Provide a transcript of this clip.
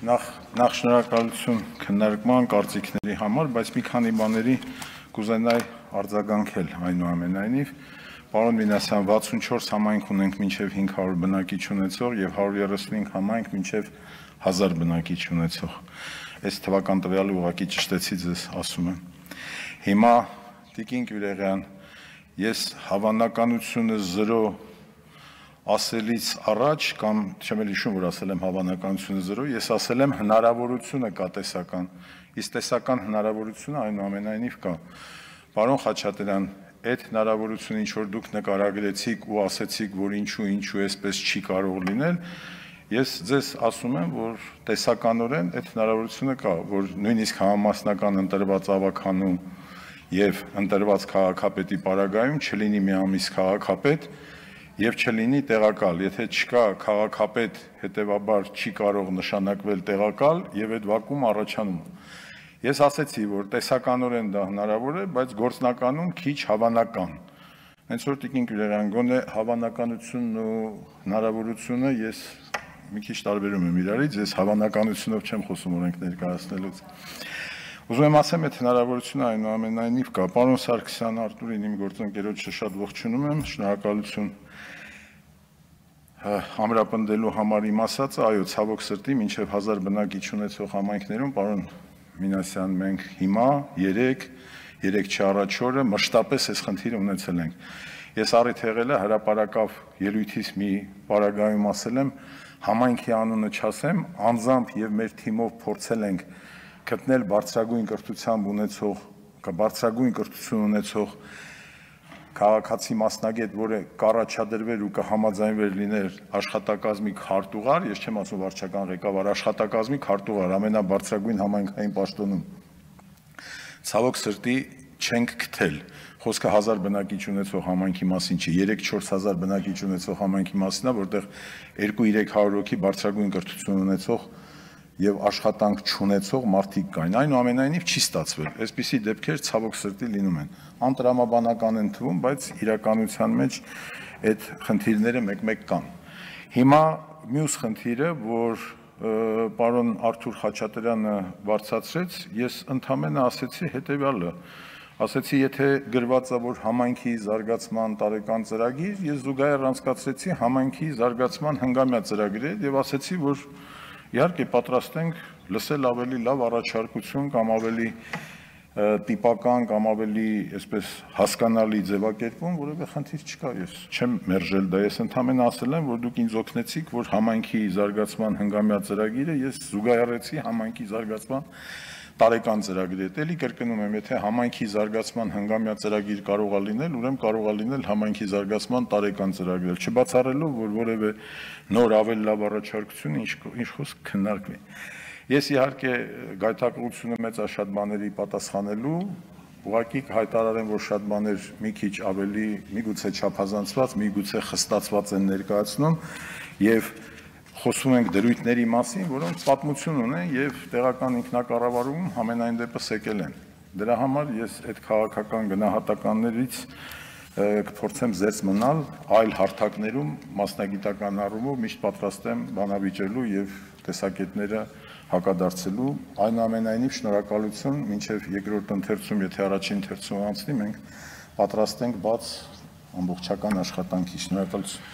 Նախ շնորհակալություն քննարկման կարծիքների համար, բայց մի քանի բաների կուզենայի արձագանքել այնուամենայնիվ։ Պարոն Մինասյան, 64 համայնք ունենք մինչև 500 բնակիչ ունեցող եւ 135 համայնք մինչև 1000 բնակիչ ունեցող։ Այս թվական տվյալը ուղղակի ճշտեցի ձեզ ասում եմ։ Հիմա Տիկին Գյուլերյան, ես հավանականությունը 0 ասելից առաջ կամ չեմ հիշում, որ ասել եմ հավանականությունը 0, ես ասել եմ հնարավորությունը կա տեսական, իսկ տեսական հնարավորությունը այնուամենայնիվ կա։ Պարոն Խաչատրյան, այդ հնարավորությունը ինչ որ դուք նկարագրեցիք ու ասեցիք, որ ինչու էսպես չի կարող լինել, ես ձեզ ասում եմ, որ տեսականորեն այդ հնարավորությունը կա, որ նույնիսկ համամասնական ընտրված ավականու եւ ընտրված քաղաքապետի պարագայում չլինի մի ամիս քաղաքապետ եւ չլինի տեղակալ, եթե չկա քաղաքապետ, հետեւաբար չի կարող նշանակվել տեղակալ եւ այդ վակուում առաջանում։ Ես ասեցի, որ տեսականորեն դա հնարավոր է, բայց գործնականում քիչ հավանական։ Հենց որ Տիկին Գյուլերյան, գոնե հավանականությունն ու հնարավորությունը ես մի քիչ տարբերում եմ իրարից, ես հավանականությունով չեմ խոսում օրենք ներկայացնելուց։ Ուզում եմ ասեմ, այդ հնարավորությունը այնուամենայնիվ կա։ Պարոն Սարգսյան, Արտուրին իմ գործընկերոջը շատ ողջունում եմ, շնորհակալություն ամրապնդելու համար իմ ասածը, այո, ցավոք սրտի, մինչև 1000 բնակիչ ունեցող համայնքներում, պարոն Մինասյան, մենք հիմա 3 չառաջ օրը մշտապես այս խնդիրը ունեցել ենք։ Ես առիթ եղել է հրապարակավ ելույթից մի պարագայում ասել եմ, համայնքի անունը չասեմ, անձամբ եւ մեր թիմով փորձել ենք գտնել բարձրագույն կրթություն ունեցող քաղաքացի մասնագետ, որը կառաջադրվեր ու կհամաձայնվեր լինել աշխատակազմի քարտուղար, ես չեմ ասում վարչական ղեկավար, աշխատակազմի քարտուղար ամենաբարձրագույն համայնքային պաշտոնում։ Ցավոք սրտի չենք գտել։ Խոսքը 1000 բնակիչ ունեցող համայնքի մասին չի, 3-4000 բնակիչ ունեցող համայնքի մասին է, որտեղ 2-300 հոգի բարձրագույն կրթություն ունեցող եւ աշխատանք չունեցող մարդիկ կային։ Այնուամենայնիվ չի ստացվել։ Այսպիսի դեպքեր ցավոք սրտի լինում են։ Անտրամաբանական են թվում, բայց իրականության մեջ այդ խնդիրները մեկ-մեկ կան։ Հիմա մյուս խնդիրը, որ պարոն Արթուր Խաչատրյանը բարձրացրեց, ես ընդհանրապես ասեցի հետեւյալը։ Ասեցի, եթե գրված է, որ համայնքի զարգացման տարեկան ծրագիր, ես զուգահեռ անցկացրեցի համայնքի զարգացման հնգամյա ծրագրեր եւ ասեցի, որ իհարկե պատրաստ ենք լսել ավելի լավ առաջարկություն կամ ավելի տիպական կամ ավելի այսպես հասկանալի ձևակերպում, որևէ խնդիր չկա, ես չեմ մերժել դա, ես ընդհանրապես ասել եմ, որ դուք ինձ օգնեցիք, որ համայնքի զարգացման հնգամյա ծրագիրը ես զուգահեռեցի համայնքի զարգացման տարեկան ծրագրի հետ, էլի կրկնում եմ, եթե համայնքի զարգացման հնգամյա ծրագիր կարող է լինել, ուրեմն կարող է լինել համայնքի զարգացման տարեկան ծրագիր, չբացառելով, որ որևէ նոր ավելի լավ առաջարկություն ինչ խոսք քննարկվի։ Ես իհարկե գայթակղությունը մեծ է շատ բաների պատասխանելու, ուղղակի հայտարարեմ, որ շատ բաներ մի քիչ ավելի միգուցե չափազանցված, միգուցե խստացված են ներկայացնում եւ խոսում ենք դրույթների մասին, որոնք պատմություն ունեն եւ տեղական ինքնակառավարում համենայն դեպս եկել են։ Դրա համար ես այդ քաղաքական գնահատականներից կփորձեմ զերծ մնալ, այլ հարթակներում մասնագիտական առումով միշտ պատրաստ եմ բանավիճելու եւ տեսակետները հակադարձելու, այնուամենայնիվ շնորհակալություն, մինչեւ երկրորդ ընթերցում, եթե առաջին ընթերցումը անցնի, մենք պատրաստ ենք բաց ամբողջական աշխատանքի, շնորհակալություն։